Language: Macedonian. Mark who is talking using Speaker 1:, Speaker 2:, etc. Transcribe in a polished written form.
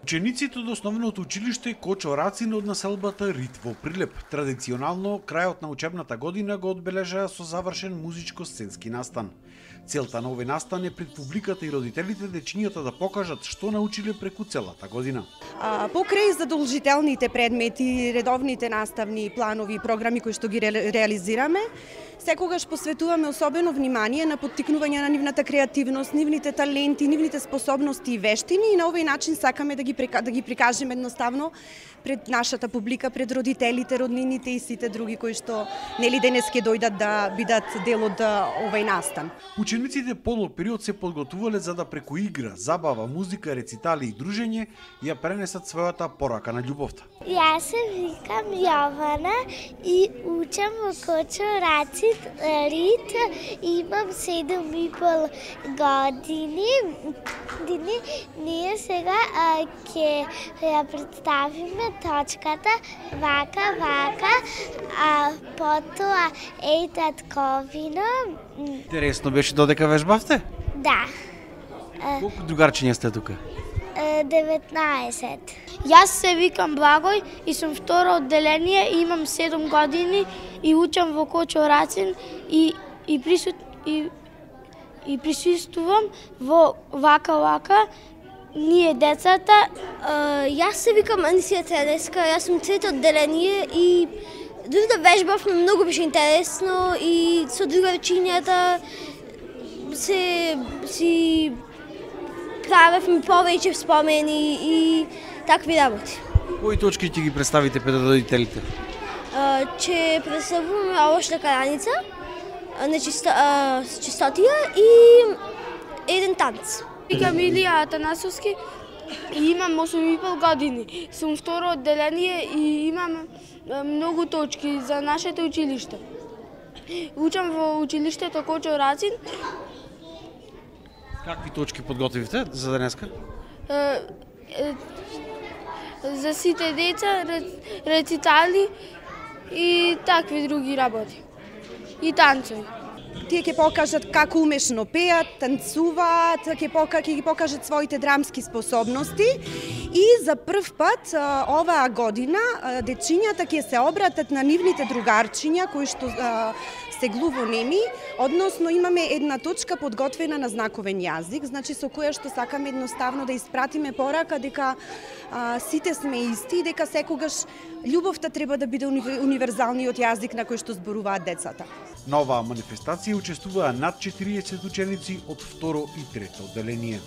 Speaker 1: Учениците од основното училиште Кочо Рацин од населбата Рит во Прилеп традиционално крајот на учебната година го одбележаа со завршен музичко-сценски настан. Целта на овој настан е пред публиката и родителите дечињата да покажат што научиле преку целата година.
Speaker 2: Покрај задолжителните предмети, редовните наставни планови и програми кои што ги реализираме, секогаш посветуваме особено внимание на поттикнување на нивната креативност, нивните таленти, нивните способности и вештини и на овој начин сакаме да ги прикажеме едноставно пред нашата публика, пред родителите, роднините и сите други кои што денес ќе дојдат да бидат дел од овој настан.
Speaker 1: Учениците подолг период се подготвувале за да преку игра, забава, музика, рецитали и дружење ја пренесат својата порака на љубовта.
Speaker 3: Јас се викам Јована и учам во Кочо Рацин Рит. Имам 7,5 години. Ние сега ќе ја представиме точката вака, а потоа еј татковина.
Speaker 1: Интересно беше додека вежбавте?
Speaker 3: Да.
Speaker 1: Колку другарчиња сте тука?
Speaker 3: 19.
Speaker 4: Јас се викам Благој и сум второ одделение, имам 7 години и учам во Кочо Рацин и присуствувам во вака, ние децата.
Speaker 5: Јас се викам Анисија Тереска, јас сум трето одделение и дори да вежбавме многу беше интересно и со другарчињата си правевме повеќе спомени и такви работи.
Speaker 1: Кои точки ќе ги представите пред родителите?
Speaker 5: Ќе представуваме овошта караница, чистотија и еден танц.
Speaker 4: Викам Илија Атанасовски и имам 8,5 години. Сум второ одделение и имам многу точки за нашето училиште. Учам во училиштето Кочо Рацин.
Speaker 1: Какви точки подготвивте за денеска?
Speaker 4: За сите деца, рецитали и такви други работи. И танцови.
Speaker 2: Тие ќе покажат како умешно пеат, танцуваат, ќе ги покажат своите драмски способности и за прв пат оваа година дечињата ќе се обратат на нивните другарчиња кои што се глувонеми, односно имаме една точка подготвена на знаковен јазик, значи со која што сакаме едноставно да испратиме порака дека сите сме исти и дека секогаш љубовта треба да биде универзалниот јазик на кој што зборуваат децата.
Speaker 1: На оваа манифестација учествуваа над 40 ученици од второ и трето одделение.